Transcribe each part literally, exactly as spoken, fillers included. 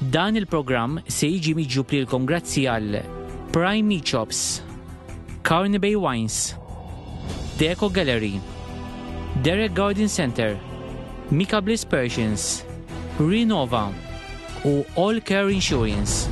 Dan il-programm se jiġi miġjub lilkom grazzi għal Prime Meat Shops, Carney Bay Wines, Deco Gallery, Derek Garden Center, Mika Bliss Persians, Renova u All Care Insurance.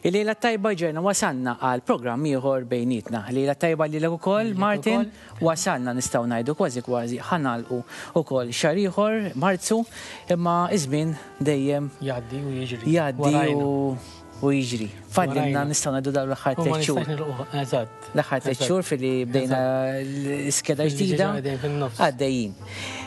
Il-lejla tajba ġejna wasalna għal programm ieħor bejnietna. Lejla tajba lilek ukoll, Martin, wasalna nistgħu ngħidu kważi kważi ħa nagħlqu ukoll xahar ieħor Marzu, imma iż-żmien dejjem jgħaddi u jiġri. Jgħaddi u jiġri. Fadlilna nistgħu ngħidu dawn l-aħħar tliet xhur. Eżatt. L-aħħar tliet xhur filli bdejna l-iskeda ġdida għaddejjin.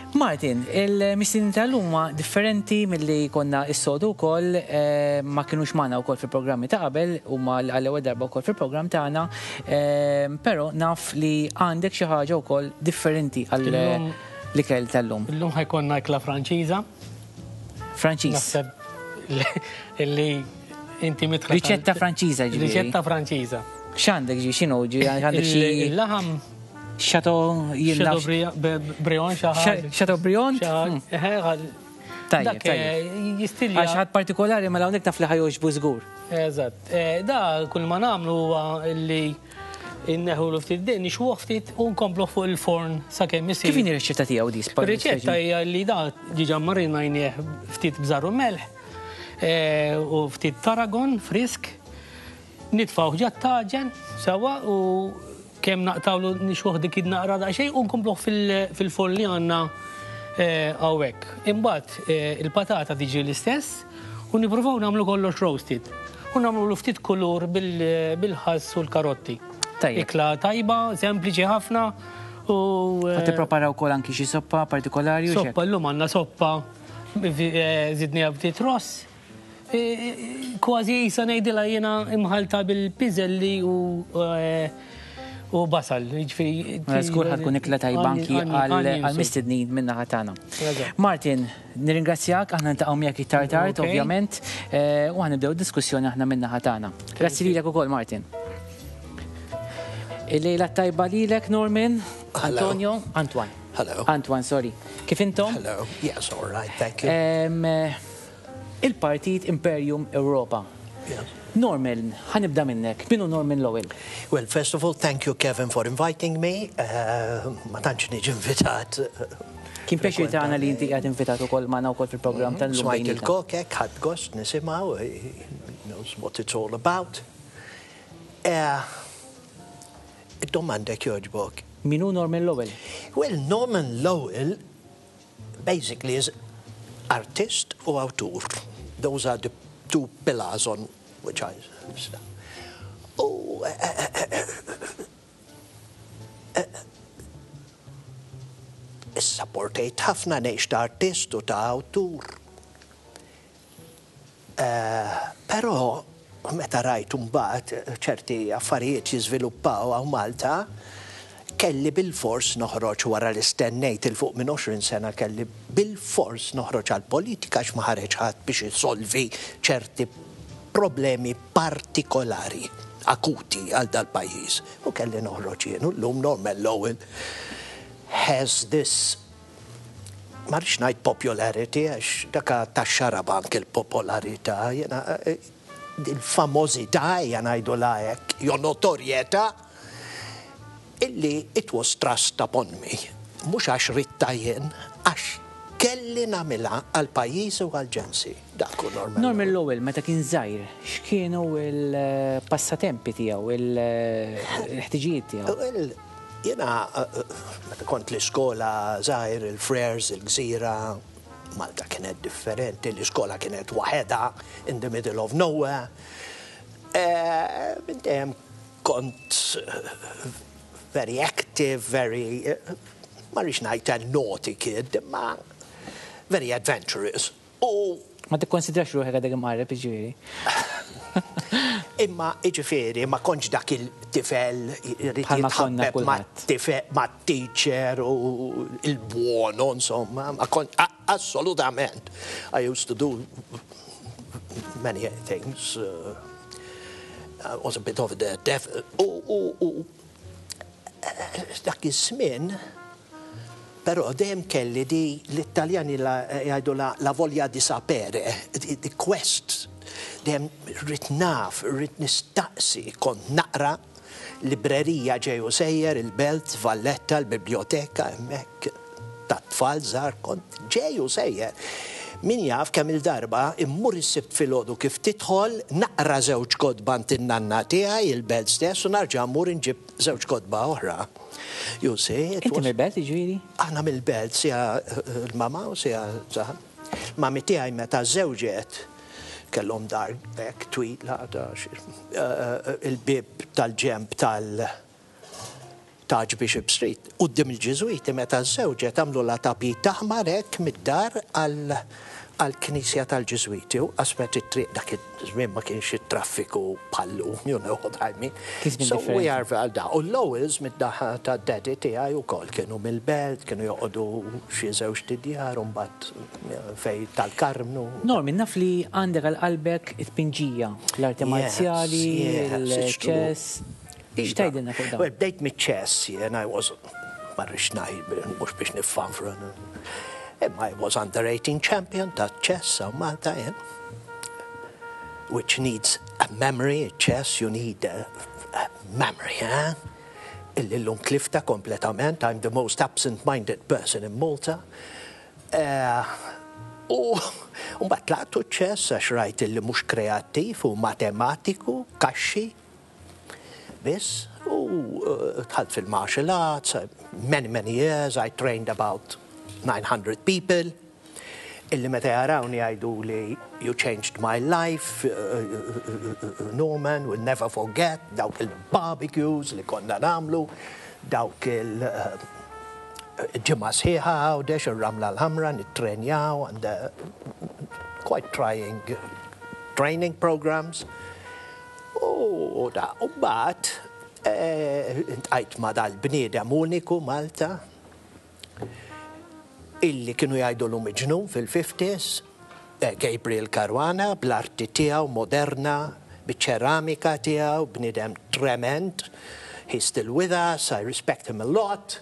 Martin, il-mistednin tal-lum huma differenti milli konna s-soltu wkoll, eh, ma kienux magħna wkoll fil-programmi ta' qabel, huma għall-ewwel darba wkoll fil-programm tagħna, eh, però naf li għandek xi ħaġa wkoll differenti għal l-ikel tal-lum. Illum ħa jkollna ikla Franċiża. Franċiż. Naħseb li inti mitħla. Riċetta Franċiża ġifieri. Riċetta Franċiża. X'għandek ġi, x'inhu ġi, għandek xi. Il-laħam Chateau Chateaubriand, Chateaubriand? Tajjeb, tajjeb. Jistilja. Għax ħadd partikolari mela hawnhekk taf li ħa jogħġbu żgur. Eżatt. Da kull ma nagħmlu huwa li inneħu ftit din, nixwuh ftit u nkomplu fuq il-forn sakemm isir. Kif inhi r-riċetta tiegħu di? Ir-riċetta hija li da diġà marinajnieh ftit bżar u melħ u ftit taragon frisk, nitfgħuh ġat-taġen sewwa u kemm naqtawlu nixwuh dik id-naqra daqsxejn u nkompluh fil-forn li għandna hawnhekk. Imbagħad il-patata tiġi l-istess u nippruvaw nagħmlu kollox roasted. U nagħmlu ftit kulur bil-ħass u l-karotti. Ikla tajba, sempliċi ħafna u. Ħa tipprepara wkoll anki xi soppa partikolari u Soppa llum għandna soppa żidniha ftit ross. Kważi jisa ngħidilha jiena imħalta bil-piżelli u u basal, jiġifieri. Żgur ħa tkun ikla tajba anki għal-mistednin min-naħa tagħna. Martin, nirringrazzjak, aħna niltaqgħu miegħek iktar tard, ovvjament, u ħa nibdew diskussjoni aħna min-naħa tagħna. Grazzi lilek ukoll, Martin. Il-lejla tajba lilek, Norman, Antonio, Antoine. Hello. Antoine, sorry. Kif intom? Hello. Yes, all right, thank you. Il-Partit Imperium Europa. Yes. Norman, ħa nibda minnek. Min hu Norman Lowell? Well, first of all, thank you, Kevin, for inviting me. Uh, ma tantx niġi invitat. Kien pjaċir tagħna li inti qiegħed invitat ukoll magħna wkoll fil-programm tal-lum. Smajt il-kokek, ħadt gost nisimgħu, he knows what it's all about. Uh, Id-domanda jogħġbok. Min hu Norman Lowell? Well, Norman Lowell basically is artist u awtur. Those are the two pillars on which I... U Issapportejt ħafna ngħix ta' artist u ta' awtur. Però meta rajt mbagħad ċerti affarijiet jiżviluppaw hawn Malta, kelli bil-fors noħroġ wara li stennejt il fuq minn għoxrin sena kelli bil-fors noħroġ għal-politika għax ma ħareġ ħadd biex isolvi ċerti problemi partikolari, akuti għal dal-pajjiż. U kelli noħroġ jien, u llum Norman Lowell has this, ma rridx ngħid popularity, għax daka tax-xaraba anke l-popolarità, jiena il-famożità ejja ngħidu hekk, jew notorjetà, illi it was thrust upon me. Mhux għax ridtha jien, għax kelli nagħmilha għal pajjiż u għal ġensi. Dak hu Norman. Norman Lowell, meta kien żgħir, x'kienu l-passatempi tiegħu, il-ħtiġijiet tiegħu? Well, jiena meta kont l-iskola żgħir, il-Frers, il-Gżira, Malta kienet differenti, l-iskola kienet waħedha in the middle of nowhere. Eh, minn dejjem kont eh, very active, very, eh, ma rridx ngħid a naughty kid, ma very adventurous. U Ma tikkonsidrax ruħek għadek imqarreb, ġifieri. Imma iġifieri ma kontx dak il-tifel irid Bħalma konna jitħabbeb ma' kulħadd. tifel ma' teacher u il-buono, insomma, ma kont a- assolutament. I used to do many things. Uh, I was a bit of a devil. U, u, u dak iż-żmien, però dejjem kelli di l-Italjani la- jgħidu la, la voglia di sapere, di, di quest. Dejjem rrid naf, rrid nistaqsi, kont naqra librerija ġej u sejjer, il-Belt, Valletta, l-biblioteka, hemmhekk ta' tfal żgħar kont ġej u sejjer. Min jaf kemm il-darba immur is-Sibt filgħodu kif tidħol naqra żewġ kotba in-nanna tiegħi il-Belt stess u narġa' mmur inġib żewġ kotba oħra. You see, it Inti was- mill-Belt, ġifieri? Aħna mill-Belt, sija l-mama u sija zaħan. Mami tiegħi meta żewġet kellhom dar hekk twila ta' xi- eh, il-bib tal-ġemb tal- ta' Archbishop Street. Quddiem il-Ġiżwiti meta żewġet għamlu la tapit aħmar hekk mid-dar għal għal-knisja tal-Ġiżwiti u qasmet it-triq dak iż-żmien ma kienx it-traffiku bħal-lum, you know what I mean. Kien żmien So we differenti. are għal da. U l-Lowells mid-naħa ta' daddy tiegħi wkoll kienu mill-Belt, kienu joqogħdu xi żewġ djar u mbagħad fej tal-Karmnu. Norman, naf li għandek għal qalbek it-tpinġija, l-arti Yes, marzjali, yes, it's true. il-ċess. X'tgħidilna fuq dawn? Well, bdejt mit-ċess, jien I was, ma rridx ngħid, mhux biex niffanfra. Imma I was under eighteen champion ta' chess hawn Malta, jien. Which needs a memory, chess, you need a, a memory, eh? Illi l-lum tlifta kompletament, I'm the most absent-minded person in Malta. Eh, U mbagħad tlaqtu ċess għax rajt illi mhux kreattiv u matematiku, kaxxi, biss, u uh, dħalt fil-martial arts, uh, many, many years, I trained about nine hundred people, illi meta jarawni jgħidu li "You changed my life, uh, uh, uh, Norman, we'll never forget," dawk il-barbecues li konna nagħmlu, dawk il- uh, ġimgħa sħiħa Għawdex, ir-Ramla l-Ħamra, nittrenjaw, and uh, quite trying training programs. U da, u mbagħad iltqajt ma' dal-bniedem uniku Malta, illi kienu jgħidu l miġnun fil-fifties, eh, Gabriel Caruana, bl-arti tiegħu moderna, biċ-ċeramika tiegħu, bniedem trement, he's still with us, I respect him a lot,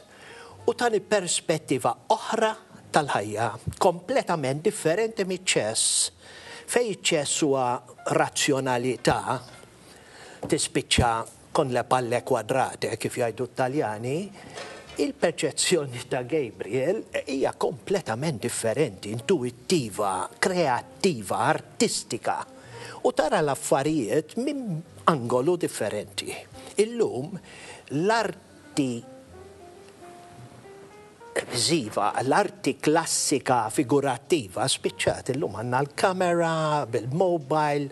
u tani perspettiva oħra tal-ħajja, kompletament differenti miċ-ċess. Fej iċ-ċess huwa razzjonalità, tispiċċa con le palle quadrate, kif jgħidu Taljani, il-perċezzjoni ta' Gabriel hija kompletament differenti, intuittiva, kreattiva, artistika. U tara l-affarijiet minn angolu differenti. Illum, l-arti viżiva, l-arti klassika figurattiva spiċċat. Illum għandna l-kamera, bil-mobile,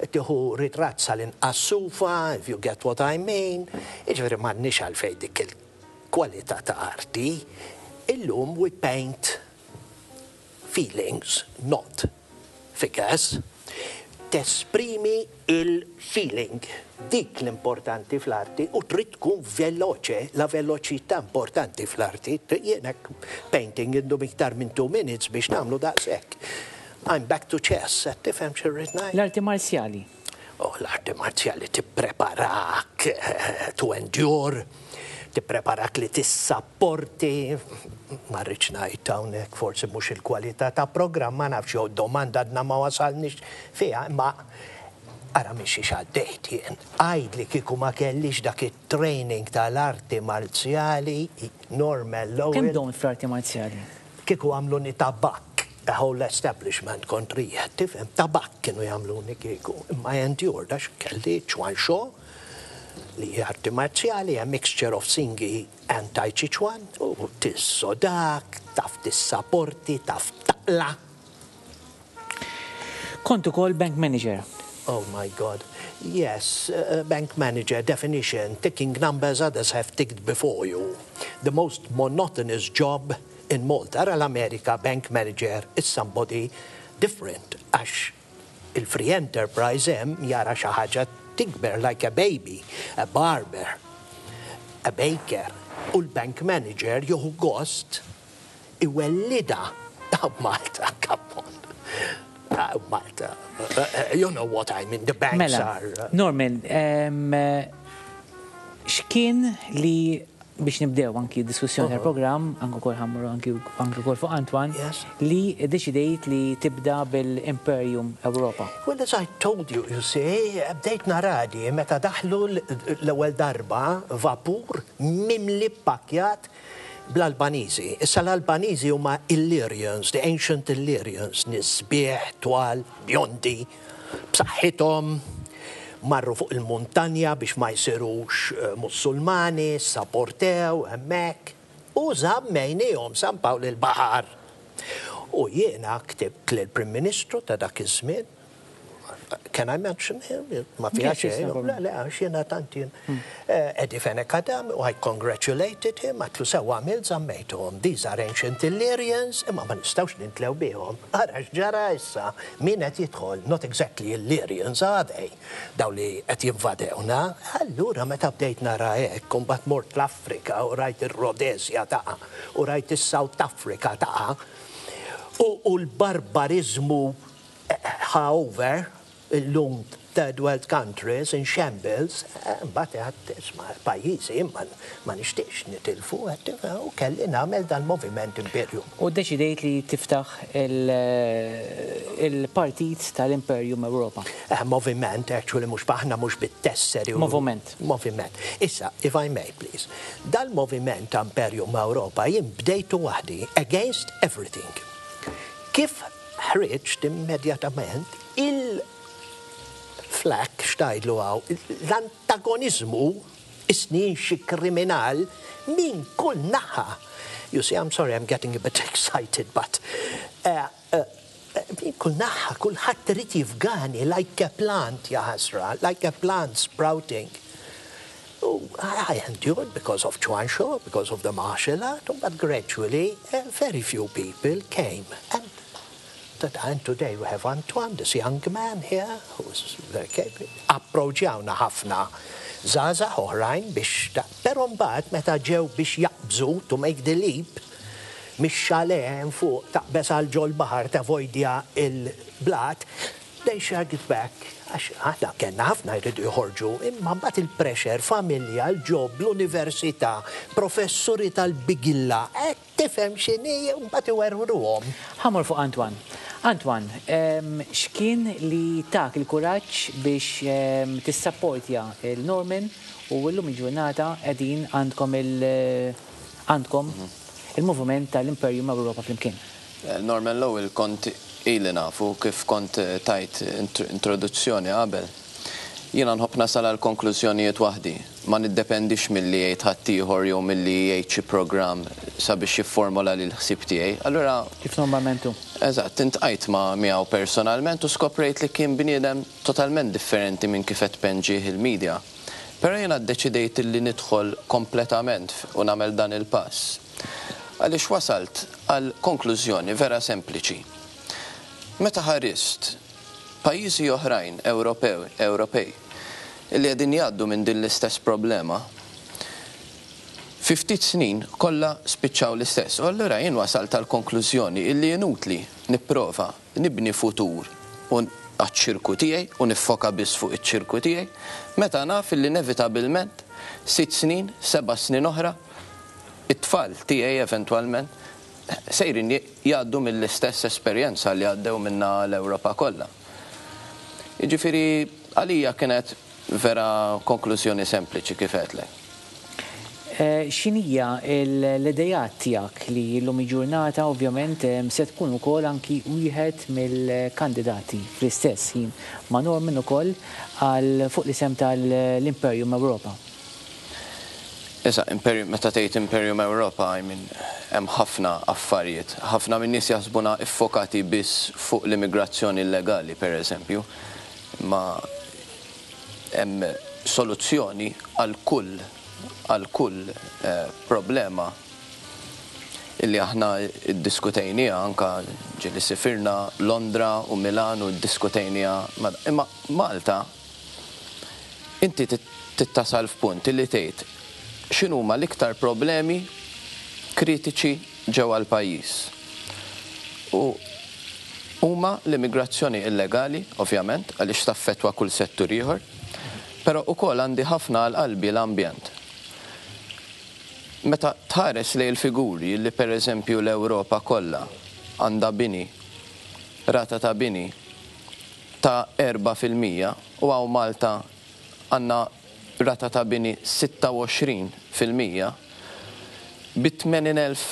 tieħu ritratt sal-inqas sufa, if you get what I mean. Iġifieri m'għandniex għalfejn dik il-kwalità ta' arti. Illum we paint feelings, not figures. Tesprimi il-feeling. Dik l-importanti fl-arti u trid tkun veloce, la veloċità importanti fl-arti. Jienek painting indum iktar minn two minutes biex nagħmlu daqshekk. I'm back to chess, qed tifhem x'irrid ngħid? L-arti marzjali. Oh, l-arti marzjali tippreparak eh, to endure, tippreparak li tissapporti, ma rridx ngħid hawnhekk, forsi mhux il-kwalità ta' programm, ma nafx jew domanda għadna ma wasalniex fiha, imma ara minn xiex għaddejt jien. Għajd li kieku ma kellix dak it-training tal-arti marzjali, Norman Kemm Lowell, domt fl-arti marzjali? Kieku għamluni tabak, a whole establishment kontrija, tifhem, tabak kienu jagħmluni kieku. Imma I endured, għax kelli Chuan Shou, li hija arti marzjali, a mixture of Xingyi and Tai Chi Chuan, u tissodak, taf tissaporti, taf taqla. Kont ukoll bank manager. Oh my God. Yes, uh, bank manager definition, ticking numbers others have ticked before you. The most monotonous job in Malta. Ara l-Amerika, bank manager is somebody different. Għax il-free enterprise hemm jara xi ħaġa tikber like a baby, a barber, a baker. U l-bank manager jieħu gost iwellida. Malta, come on. Uh, Malta, uh, uh, you know what I mean, the banks Mela, are... Uh, Norman, em, x'kien li biex nibdew anki diskussjoni tal-programm, anki kol ħammru anki anki kol fuq Antoine, Yes. li deċidejt li tibda bil-Imperium Europa. Well, as I told you, you see, bdejt nara di meta daħlu l-ewwel darba vapur mimli pakjat bl-Albaniżi. Issa l-Albaniżi huma Illyrians, the ancient Illyrians, nies sbieħ, twal, bjondi, b'saħħithom, marru fuq il-muntanja biex ma jsirux eh, musulmani, sapportew, hemmhekk, u żammejnihom San Pawl il-Baħar. U jiena ktibt lill-Prim Ministru ta' dak iż-żmien, can I mention him? Ma fiha Yes, yes, xejn. no problem. Le, le, għax jiena tant jien. Eh, Eddie Fenech Adami, u I congratulated him, għedtlu sewwa għamilt żammejthom. These are ancient Illyrians, imma ma nistgħux nintlew bihom. Ara x'ġara issa, min qed jidħol, not exactly Illyrians, are they? Daw li qed jinvadewna. Allura meta bdejt nara hekk, mbagħad mort l-Afrika u rajt ir-Rhodesia taqa' u rajt is-South Africa taqa' u, u l-barbarizmu ħa over illum third world countries in shambles, mbagħad għedt isma' pajjiżi ma ma nixtieqx nitilfu, għedt u kelli nagħmel dal-moviment Imperium. U deċidejt li tiftaħ il- il-partit tal-Imperium Europa. Eh, moviment, actually, mhux aħna mhux bit-tesseri. u- Moviment. Moviment. Issa, if I may, please. Dal-moviment ta' Imperium Europa jien bdejtu waħdi against everything. Kif ħriġt immedjatament il-flak x'tgħidlu hawn, l-antagonizmu isnin xi kriminal minn kull naħa. You see, I'm sorry, I'm getting a bit excited, but uh, uh, minn kull naħa, kulħadd irid jifgani like a plant, ja ħasra, like a plant sprouting. Oh, I endured because of Chuanshaw, because of the martial art, but gradually uh, very few people came. And, that, and today we have Antoine, this young man here, who's very capable. Approċjawna ħafna żgħażagħ oħrajn biex, da, pero mbagħad meta ġew biex jaqbżu to make the leap, mix-chalet fuq taqbeż għal ġol-baħar tavoidja il-blat, they shrugged back. Għax aħna kellna ħafna jridu joħorġu, imma mbagħad il-pressure, familja, il-job, l-università, professuri tal-bigilla, qed tifhem x'inhi mbagħad iwerwruhom. Ħa mmur fuq Antoine. Antoine, em, x'kien li tak il-kuraġġ biex em, tissapportja il-Norman u llum il-ġurnata qegħdin għandkom il- għandkom il-moviment tal-Imperium Europa flimkien. Eh, Norman Lowell kont ili nafu kif kont eh, tajt int- introduzzjoni qabel. Jiena nħobb nasal għal konklużjonijiet waħdi. Ma niddependix milli jgħid ħaddieħor jew milli jgħid xi programm sabiex jifformola lil ħsieb tiegħi. Allura Kif normalment hu? Eżatt, iltqajt ma' miegħu personalment u skoprejt li kien bniedem totalment differenti minn kif qed tpinġih il-medja. Però jiena ddeċidejt li nidħol kompletament u nagħmel dan il-pass. Għaliex wasalt għal konklużjoni vera sempliċi. Meta ħarist pajjiżi oħrajn Ewropew, Ewropej li qegħdin jgħaddu minn din l-istess problema, fi ftit snin kollha spiċċaw l-istess. U allura jien wasalt għal konklużjoni illi inutli nipprova nibni futur u għaċ-ċirku tiegħi u niffoka biss fuq iċ-ċirku tiegħi, meta naf illi inevitabilment sitt snin, seba' snin oħra, it-tfal tiegħi eventwalment sejrin jgħaddu mill-istess esperjenza li għaddew minna l-Ewropa kollha. Jiġifieri għalija kienet vera konklużjoni sempliċi kif għedtlek. Eh, X'inhija l-idejat tiegħek li llum il-ġurnata ovvjament em, se tkun ukoll anki wieħed mill-kandidati fl-istess ħin ma' Norman ukoll għal fuq l-isem tal-Imperium Europa. Issa, Imperium, meta tgħid Imperium Europa, I mean, hemm ħafna affarijiet. Ħafna minn nies jaħsbuna iffokati biss fuq l-immigrazzjoni illegali, per eżempju. Ma Hemm soluzzjoni għal kull għal kull eh, problema illi aħna iddiskutejnieha, anka ġieli sifirna Londra u Milan u ddiskutejnieha. Imma Malta inti tittasal f'punt illi tgħid x'inhuma l-iktar problemi kritiċi ġewwa l-pajjiż. U huma l-immigrazzjoni illegali, ovvjament, għaliex taffettwa kull settur ieħor, però ukoll għandi ħafna għal qalbi l-ambjent. Meta tħares lejn il-figuri li, per eżempju, l-Ewropa kollha għandha bini, rata ta' bini ta' erbgħa fil-mija u hawn Malta għandna rata ta' bini sitta u għoxrin fil-mija bi tmenin elf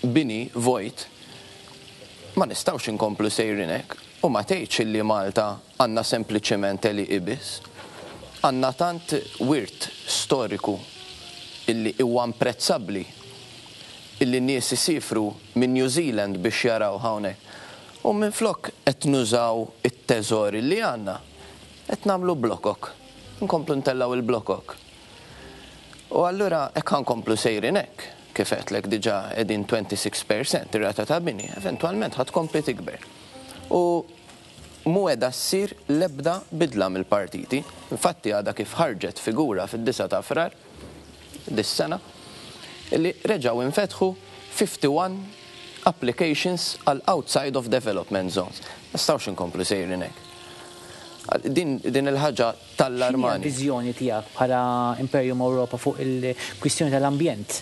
bini vojt, ma nistgħux inkomplu sejrin hekk u ma tgħidx illi Malta għandna sempliċement għelieqi biss. Għandna tant wirt storiku illi huwa imprezzabbli, illi nies isifru minn New Zealand biex jaraw hawnhekk. U minn flok qed nużaw it-teżor li għandna, qed nagħmlu blokok. Nkomplu ntellaw il-blokok. U allura hekk nkomplu sejrin hekk, kif għedtlek diġà qegħdin sitta u għoxrin fil-mija ir-rata ta' bini, eventwalment ħa tkompli tikber. U mhu qiegħda ssir l-ebda bidla mill-partiti. Infatti għadha kif ħarġet figura fid-disgħa ta' Frar dis-sena illi reġgħu infetħu wieħed u ħamsin applications għal outside of development zones. Nistgħux inkomplu sejrin hekk. Din, din il-ħaġa tallarmani. Viżjoni tiegħek bħala Imperium Europa fuq il-kwistjoni tal-ambjent,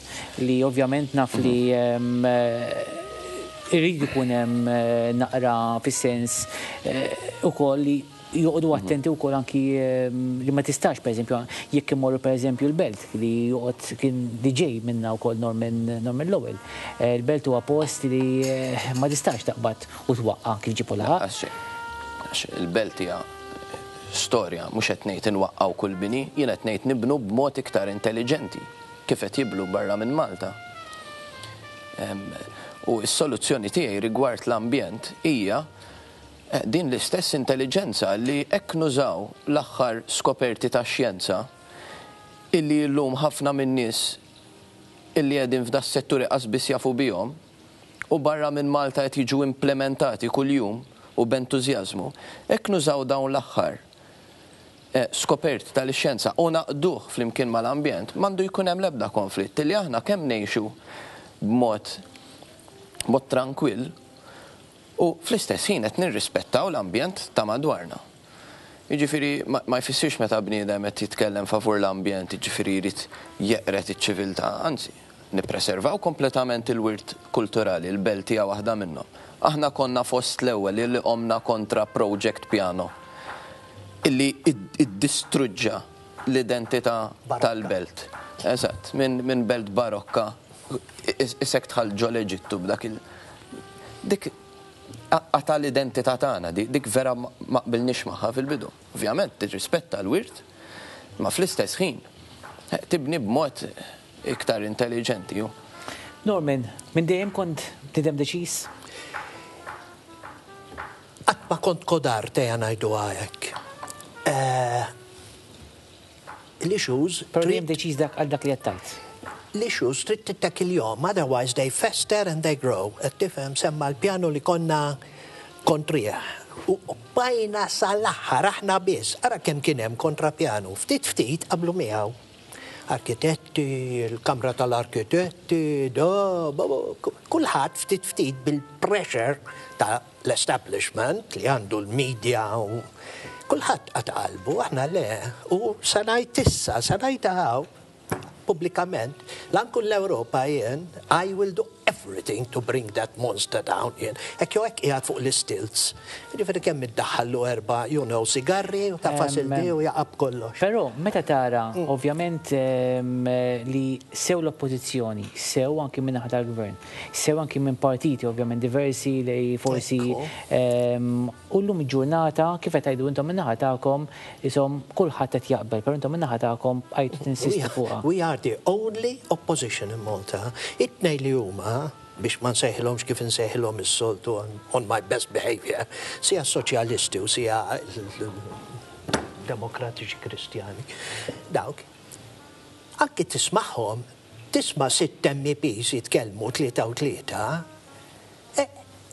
li ovvjament naf li em, eh, irrid ikun hemm eh, naqra fis-sens eh, ukoll li joqogħdu attenti wkoll anki em, li ma tistax, pereżempju, jekk imorru, pereżempju, l-Belt li joqgħod kien D J minna wkoll Norman Norman Lowell. Eh, Il-Belt huwa post li eh, ma tistax taqbad u twaqqa kif ġipu laħaq. Għax għax il-Belt hija storja, mhux qed ngħid inwaqqgħu kull bini, jien qed ngħid nibnu b'mod iktar intelligenti kif qed jibnu barra minn Malta. Em, U s-soluzzjoni tiegħi rigward l-ambjent hija eh, din l-istess intelligenza li hekk nużaw l-aħħar skoperti ta' xjenza illi llum ħafna minn nies illi qegħdin f'da s-setturi qas jafu bihom u barra minn Malta qed jiġu implementati kuljum u b'entużjażmu, hekk nużaw dawn l-aħħar eh, skoperti tal-xjenza u ngħaqqduh flimkien mal-ambjent, m'għandu jkun hemm l-ebda konflitt li aħna kemm ngħixu b'mod mod trankwill u fl-istess ħin qed nirrispettaw l-ambjent ta' madwarna. Jiġifieri ma ma jfissirx meta bniedem qed jitkellem favur l-ambjent, jiġifieri jrid jeqret iċ-ċiviltà, anzi, nippreservaw kompletament il-wirt kulturali, il-Belt hija waħda minnhom. Aħna konna fost l-ewwel li qomna kontra Project Piano illi id- iddistruġġa l-identità Barokka. tal-belt. Eżatt, minn min belt barokka, is- isek dħalt ġo l-Eġittu b'dak il. Dik qata l-identità tagħna, dik dik vera ma ma qbilniex magħha fil-bidu. Ovvjament tirrispetta l-wirt, ma fl-istess ħin eh, tibni b'mod iktar intelligenti. Ju. Norman, minn dejjem kont bniedem deċiż? Qatt ma kont kodard, ejja ngħidu hekk. L-issues Però dejjem trid deċiż dak għal dak li qed tgħid. L-issues trid tittackle-jhom, otherwise they fester and they grow. Qed tifhem, semma l-pjanu li konna kontrih. U bqajna sal-aħħar aħna biss, ara kemm kien hemm kontra pjanu. Ftit ftit qablu miegħu. Arkitetti, il-Kamra tal-Arkitetti, do, bo, bo, kulħadd ftit ftit bil-pressure ta' l-establishment li għandu l-media u kulħadd qata' qalbu, aħna le. U sa ngħid issa, sa ngħid hawn, pubblikament, la nkun l-Ewropa jien, I will do everything to bring that monster down jien. Hekk jew hekk qiegħed fuq l-stilts. Ġifieri kemm iddaħħallu erba', you know, sigarri u ta' fasildi u jaqab kollox. Però meta tara, ovvjament, em, li sew l-oppożizzjoni, sew anki minn naħa tal-gvern, sew anki minn partiti ovvjament diversi li forsi Ekku. em, u llum il-ġurnata kif qed tgħidu intom minn naħa tagħkom isom kulħadd qed jaqbel, però intom minn naħa tagħkom bqajtu tinsistu fuqha. We are the only opposition in Malta. It-tnejn li huma, biex ma nsejħilhomx kif nsejħilhom is-soltu on, on my best behavior, sija soċjalisti u sija Demokratiċi Kristjani. Dawk, anki tismagħhom, tisma' sitt M Ps jitkellmu tlieta u tlieta, eh,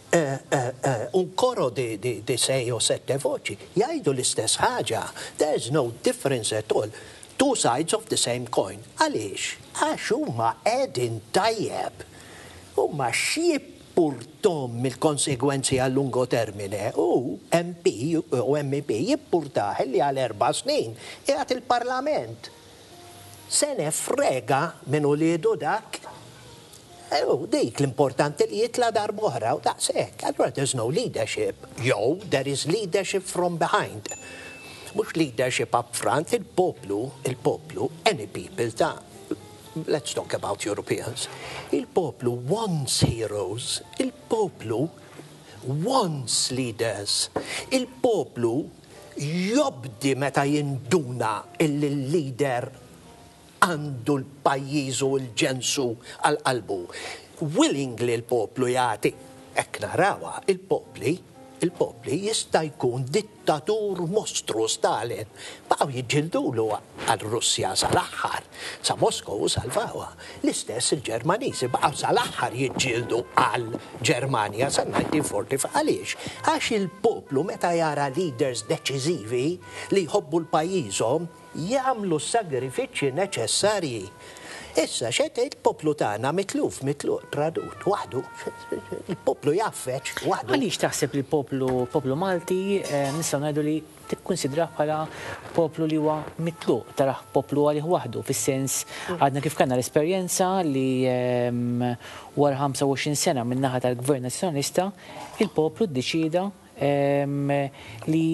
eh, eh, un coro di, di, di sei o sette voci, jgħidu l-istess ħaġa. There's no difference at all. Two sides of the same coin. Għaliex? Għax huma qegħdin tajjeb. Huma x'jimpurtahom mill-konsegwenzi għal lungo termine u M P u M P jimpurtah li għal erba' snin qiegħed il-Parlament. Se ne frega minn uliedu dak. U dik l-importanti li jitla' darb'oħra u daqshekk. Allura there's no leadership. Yo, there is leadership from behind. Mhux leadership up front, il-poplu, il-poplu, any people ta', let's talk about Europeans. Il-poplu wants heroes, il-poplu wants leaders. Il-poplu jobdi meta jinduna il-leader għandu l-pajjiż u l-ġensu għal-qalbu. Willingly l-poplu jagħti. Hekk narawha, il-popli, il-popli jista' jkun dittatur mostru Stalin. Baqgħu jiġġildulu għal-Russja sal-aħħar, sa Moskow salvawha. L-istess il-Ġermaniżi baqgħu sal-aħħar jiġġieldu għal-Ġermanja sa mil-elf disa' mija u erbgħa u erbgħin. Għaliex? Għax il-poplu meta jara leaders deċiżivi li jħobbu l-pajjiżhom jagħmlu s-sagrifiċċji neċessarji. Issa, xet il-poplu tagħna mitluf, mitluf, tradut, waħdu, il-poplu jaffeċ, waħdu. Għaliex taħseb li l-poplu poplu Malti eh, nistgħu ngħidu li tikkonsidrah bħala poplu li huwa mitluq, tarah poplu għalih waħdu, fis-sens għadna kif kellna l-esperjenza li ehm, wara ħamsa u għoxrin sena min-naħa tal-Gvern Nazzjonalista, il-poplu ddeċida ehm, li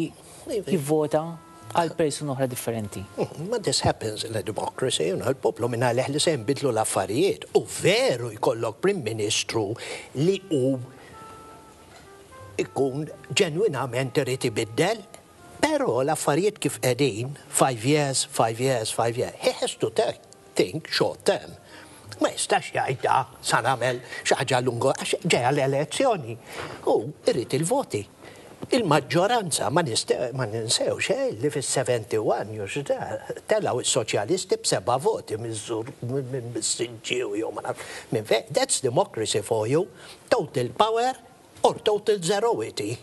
jivvota għal persuna oħra differenti. Ma this happens in a democracy, you know, il-poplu minn għalih li se jinbidlu l-affarijiet. U veru jkollok Prim Ministru li u ikun ġenwinament irid ibiddel, però l-affarijiet kif qegħdin, five years, five years, five years, he has to take, think short term. Ma jistax jgħid da sa nagħmel xi ħaġa lungo għax ġejja l-elezzjoni. U irid il-voti. Il-maġġoranza ma niste- ma ninsewx eh, li fis-sebgħa u sebgħin telgħu is-soċjalisti b'seba' voti miż-Żur mis-Siġġiewi jew ma naf minn fejn. That's democracy for you. Total power or total zeroity.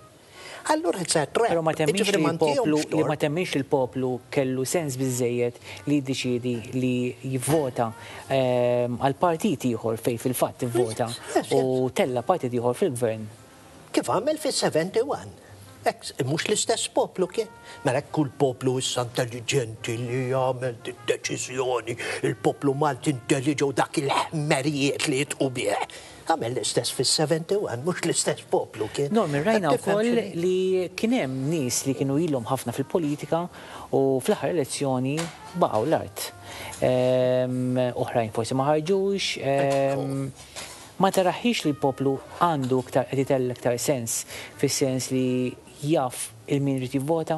Allura it's a trap. Pero ma temminx Jiġifieri li ma l-poplu ntihomx li ma tort. temminx li l-poplu kellu sens biżejjed li jiddeċiedi li jivvota ehm, għal partit ieħor fej fil-fatt ivvota Yes, yes. u tella partit ieħor fil-gvern. Kif għamel fis-sebgħa u sebgħin. Ek, mhux l-istess poplu kien. Mela kull poplu issa intelligenti li jagħmel deċiżjoni, il-poplu Malti intelligenti u dak il-ħmerijiet li jitqu bih. Għamel l-istess fis-sebgħa u sebgħin, mhux l-istess poplu kien. Norman, rajna Qed tifhem wkoll x'inhi? li kien hemm nies li kienu ilhom ħafna fil-politika u fl-aħħar elezzjoni baqgħu l-art. Ehm, Oħrajn forsi ma ħarġux. ehm, Ma taraħix li l-poplu għandu iktar qed itella iktar sens fis-sens li jaf lil min irid jivvota?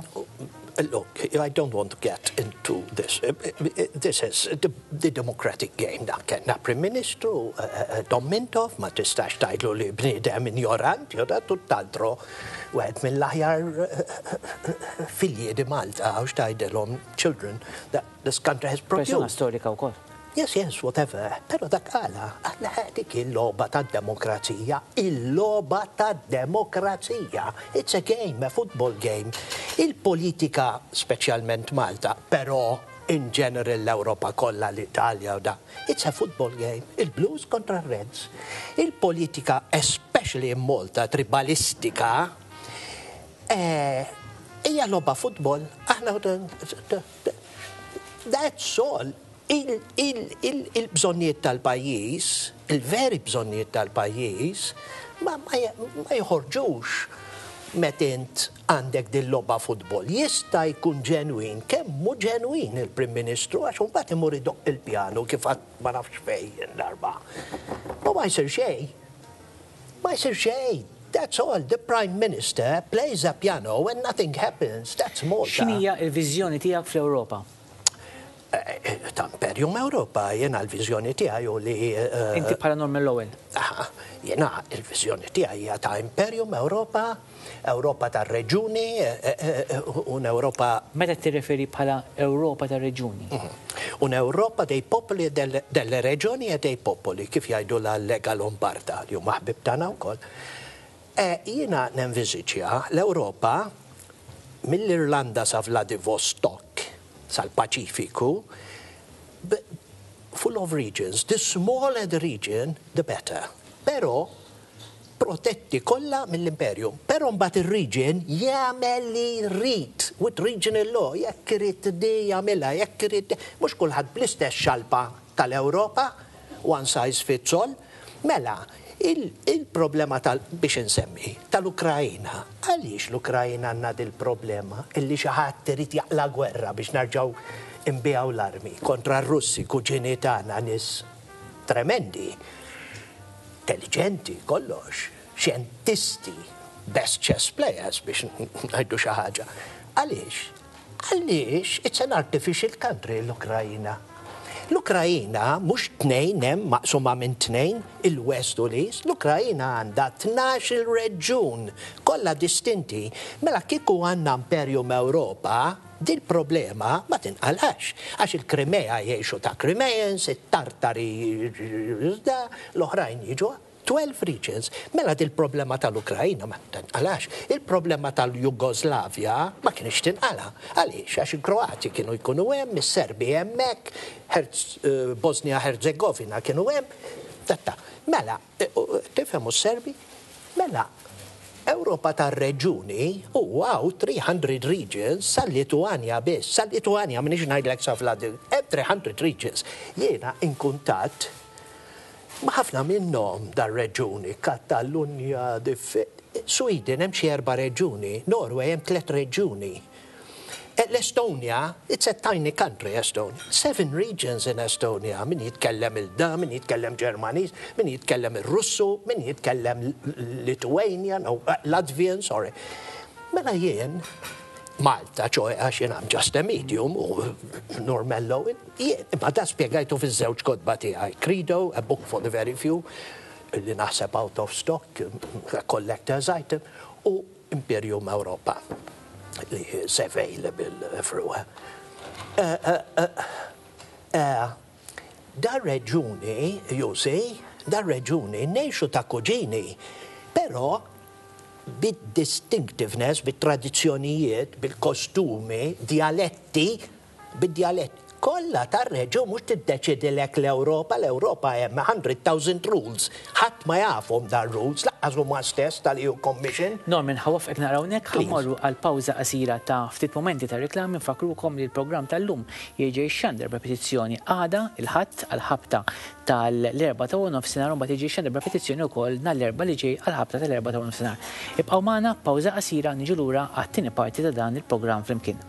Look, I don't want to get into this. Uh, uh, This is the, the democratic game. Dak kellna Prim Ministru, uh, Dom Mintoff, ma tistax tgħidlu li bniedem ignorant, jew da tutt'altro, wieħed mill-aħjar filji di Malta, għax tgħidilhom children that this country has Persona produced. storika wkoll. Yes, yes, whatever. Pero dak għala, għala dik il-logħba tad-demokrazija, il-logħba tad-demokrazija. It's a game, a football game. Il-politika, speċjalment Malta, però in general l-Europa kollha, l-Italja u da, it's a football game. Il-Blues kontra Reds. Il-politika, especially in Malta, tribalistika, eh, hija logħba football. Aħna that's all. Il-bżonnijiet tal-pajjiż, il-veri bżonnijiet tal-pajjiż, ma, ma, ma jħorġux meta int għandek dil-logħba futbol. Jista' jkun ġenwin, kemm mu ġenwin il-Prim Ministru, għax mbagħad imur idoqq il-pjanu kif għad ma nafx fejn darba. Ma ma jsir xejn. Ma jsir xejn. That's all. The Prime Minister plays a piano and nothing happens. That's Malta. X'inhija l-viżjoni tiegħek fl-Ewropa? Eh, Ta' imperju Imperium Europa, jena l-viżjoni tiegħi u li eh, Inti bħala Norman Lowell. Aha, jena il-viżjoni tiegħi hija ta' Imperium Europa, Europa ta' reġuni, eh, eh, un'Europa Meta tirreferi bħala Ewropa ta' reġuni? Un'Europa dei popoli e delle, delle regioni e dei popoli, kif jgħidu la Lega Lombarda, li huma ħbib tagħna wkoll. E, jiena nenviżiġja l-Ewropa mill-Irlanda sa Vladivostok, sal-Paċifiku, b- full of regions. The smaller the region, the better. Però protetti kollha mill-imperium. Però mbagħad ir-region jagħmel li jrid with regional law, jekk irid di jagħmilha, jekk irid, mhux kulħadd bl-istess xalpa tal-Ewropa, one size fits all. Mela, il- il-problema tal biex insemmi tal-Ukrajina, għaliex l-Ukrajina għandna dil-problema illi xi ħadd irid jaqla gwerra biex narġgħu nbigħu l-armi kontra r-Russi, kuġini tagħna, nies tremendi, intelligenti, kollox, xjentisti, best chess players biex ngħidu xi ħaġa. Għaliex? Għaliex it's an artificial country, l-Ukrajina. L-Ukrajina mhux tnejn hemm maqsuma minn tnejn, il-West u l-East, l-Ukrajina għandha tnax il reġun kollha distinti. Mela kieku għandna Imperium Ewropa, dil problema ma tinqalax. Għax il-Krimea jgħixu ta' Crimeans, it-Tartari, l-oħrajn jiġu twelve regions. Mela dil problema tal-Ukrajina ma tinqalax. Il-problema tal-Jugoslavja ma kienx tinqala. Għaliex? Għax il-Kroati kienu jkunu hemm, is-Serbi hemmhekk, eh, Bosnia Herzegovina kienu hemm. Tatta. Mela, eh, tifhemu s-Serbi? Mela, Ewropa tar-reġuni u għaw tliet mitt regions sal-Lituania biss, sal-Lituania, m'iniex ngħidlek sa Vlad, tliet mitt regions. Jiena in kuntatt ma' ħafna minnhom dar-reġuni, Katalunja, Sweden hemm xi erba' reġuni, Norway hemm tliet reġuni. Eh, L-Estonia, it's a tiny country, Estonia. Seven regions in Estonia. Min jitkellem il-da, min jitkellem Ġermaniż, min jitkellem il-Russu, min jitkellem Lithuanian, no, eh, Latvian, sorry. Mela jien, Malta, ċoè għax jien I'm just a medium, u Norman Lowell, jien, imma da spiegajtu fiż-żewġ kotba tiegħi. Credo, A Book for the Very Few, li naħseb out of stock, collector's item, u Imperium Europa li is available everywhere. Uh, uh, uh, da reġuni, you see, da reġuni ngħixu ta' kuġini, però bid-distinctiveness, bit-tradizzjonijiet, bil-kostumi, dialetti, bid-dialetti. Kollha tar-reġun, mhux tiddeċidilek l-Ewropa, l-Ewropa hemm one hundred thousand rules. Ħadd ma jafhom dar rules, lanqas huma stess tal-E U Commission. Norman, ħa nwaqqfek naqra hawnhekk, ħa mmorru għal pawża qasira ta' ftit momenti ta' reklam. Nfakrukom li l-programm tal-lum jerġa' jixxandar b'repetizzjoni għada il-Ħadd għal-ħabta tal-erbgħa ta' nofsinhar u mbagħad jiġi jixxandar b'repetizzjoni wkoll nhar l-Erbgħa li ġej għal-ħabta tal-erbgħa ta' nofsinhar. Ibqgħu magħna, pawża qasira, niġu lura għat-tieni parti ta' dan il-programm flimkien.